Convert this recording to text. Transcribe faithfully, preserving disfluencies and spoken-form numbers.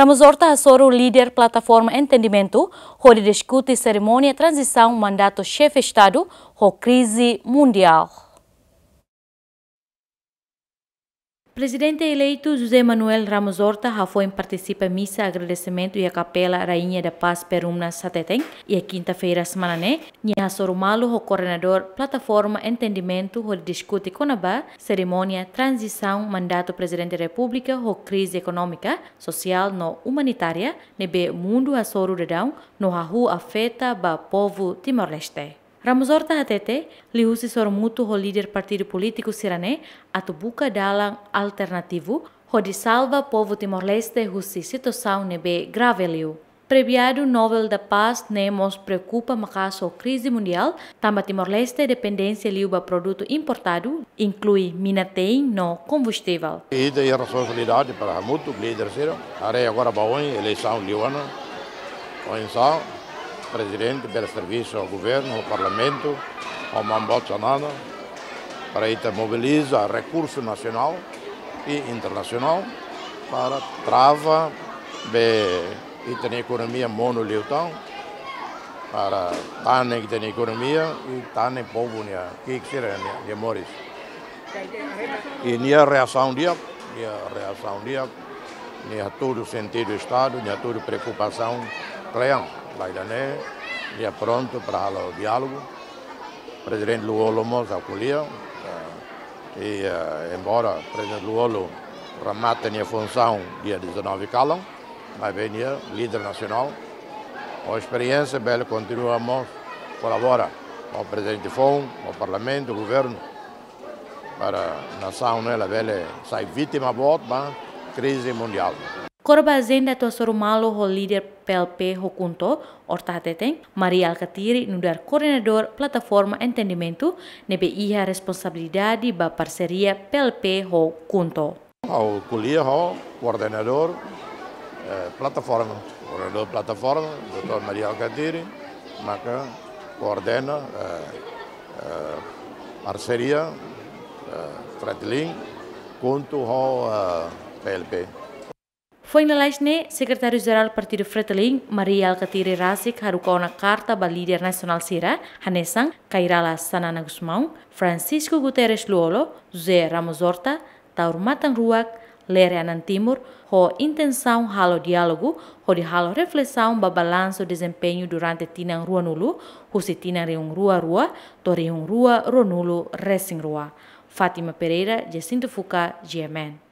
Ramos Horta hasoru líder plataforma entendimentu hodi diskute serimónia tranzisaun mandatu xefe Estadu ho krize mundiál. Prezidente eleitu José Manuel Ramos Horta hafoin partisipa misa agradesimentu iha Kapela Rainha da Paz Perumnas hateten, iha kinta-feira semana ne'e, nia hasoru malu ho koordenadór plataforma entendimentu hodi diskute kona-ba serimónia tranzisaun mandatu Prezidente Repúblika ho krize ekonómika, sosiál no umanitária ne'ebé mundu hasoru daudaun no hahú afeta ba povu Timor-Leste. Ramos Horta hatete, liuhusi sorumutu ho líder partidu polítiku sira-ne'e atu buka dalan alternativu hodi salva povu Timor-Leste husi situasaun ne'ebé grave liu. Premiadu Nobel da Paz ne'e mós preokupa maka'as ho krize mundiál, tanba Timor-Leste dependénsia liu ba produtu importadu, inklui mina-tein no kombustivel. Ita iha responsabilidade para hamutuk líder sira. Haree agora ba oin eleisaun liu ona. Oinsá prezidente bele servisu ho governu, ho parlamentu, ho maun-boot Xanana, para ita mobiliza rekursu nasionál i internasionál para trava be ita-nia ekonomia monu liután, para tanen ita-nia ekonomia i tanen povu nia ki'ik sira-nia, nia moris. I nia reasaun di'ak, nia reasaun di'ak, nia hatudu sentidu Estadu, nia hatudu preokupasaun kle'an. Ba ida-ne'e, nia prontu para halo diálogu. Prezidente Lú-Olo mós ha'u ko'alia, eh, i, eh, embora Prezidente Lú-Olo remata nia funsaun dia dezanove kalan, maibé nia líder nasionál, ho esperiénsia bele kontinua mós kolabora ho prezidente foun, ho parlamentu, governu, para nasaun ne'e labele sai vítima boot ba krize mundiál. Kona-ba ajenda atu hasoru malu ho líder P L P ho KHUNTO, Horta hateten, Mari Alkatiri nu'udar koordenadór plataforma entendimentu ne'ebé iha responsabilidade ba parseria P L P ho KHUNTO. Ha'u ko'alia ho koordenadór, eh, plataforma, koordenadór plataforma, doutór Mari Alkatiri, maka koordena, eh, eh, parseria, eh, Fretilin, KHUNTO ho, eh, P L P. Foin lalais ne'e, Sekretáriu-Jerál Partidu Fretilin, Mari Alkatiri rasik haruka ona karta ba líder nasionál sira, hanesan Kay Rala Xanana Gusmão, Francisco Guterres Lú-Olo, José Ramos Horta, Taur Matan Ruak, Lere Anan Timur, ho intensaun halo diálogu, hodi halo reflesaun ba balansu dezempeñu durante tinan ruanulu, husi tinan rihun rua rua to'o rihun rua ruanulu resin rua. Fátima Pereira, Jacinto Fuca, G M N.